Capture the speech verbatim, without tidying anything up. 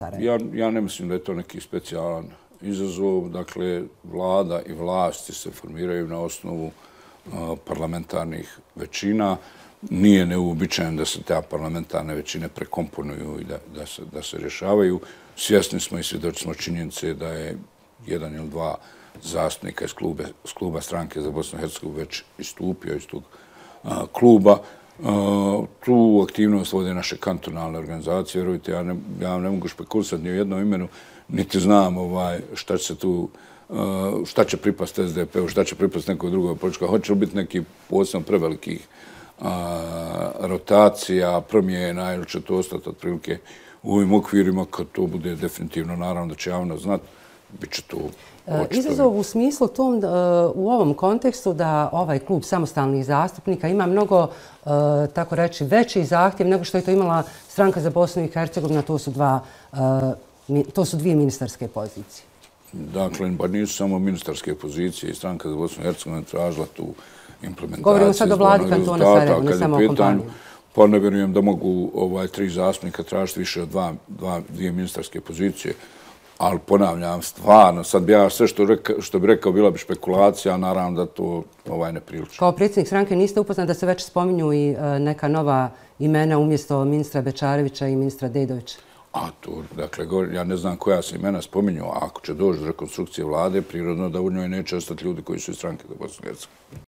Ja, ja ne mislim da je to neki specijalan izazov. Dakle, vlada i vlasti se formiraju na osnovu uh, parlamentarnih većina. Nije neuobičajeno da se te parlamentarne većine prekomponuju i da, da, se, da se rješavaju. Svjesni smo i svjedoci smo činjenice da je jedan ili dva zastupnika iz kluba, iz kluba stranke za Bosnu i Hercegovinu već istupio iz tog uh, kluba. Uh, tu aktivnost vode naše kantonalne organizacije. Vjerujte, ja ne, ja ne mogu špekulisati ni u jednom imenu, niti znam ovaj, šta će se tu, uh, šta će pripasti S D P-u, šta će pripasti nekoj drugoj političkoj. Hoće li biti neki posebno prevelikih uh, rotacija, promjena ili će to ostati otprilike u ovim okvirima kad to bude definitivno, naravno da će javno znati, bit će to očito. Izazov u smislu tom, u ovom kontekstu da ovaj klub samostalnih zastupnika ima mnogo, tako reći, veći zahtjev nego što je to imala Stranka za Bosnu i Hercegovinu, to su dva, to su dvije ministarske pozicije. Dakle, pa nisu samo ministarske pozicije i Stranka za Bosnu i Hercegovinu tražila tu implementaciju. Govorimo sad o vladi kantona Sarajevo, ne samo o kompaniji. Pa ne vjerujem da mogu ovaj, tri zastupnika tražiti više od dva, dva, dvije ministarske pozicije. Ali ponavljam, stvarno, sad bi ja sve što, reka, što bi rekao bila bi špekulacija, a naravno da to ovaj, ne priliči. Kao predsjednik stranke niste upoznati da se već spominju i e, neka nova imena umjesto ministra Bečarevića i ministra Dedovića? A to, dakle, ja ne znam koja se imena spominju, a ako će doći do rekonstrukcije vlade, prirodno da u njoj neće ostati ljudi koji su iz Stranke za Bosnu i Hercegovinu.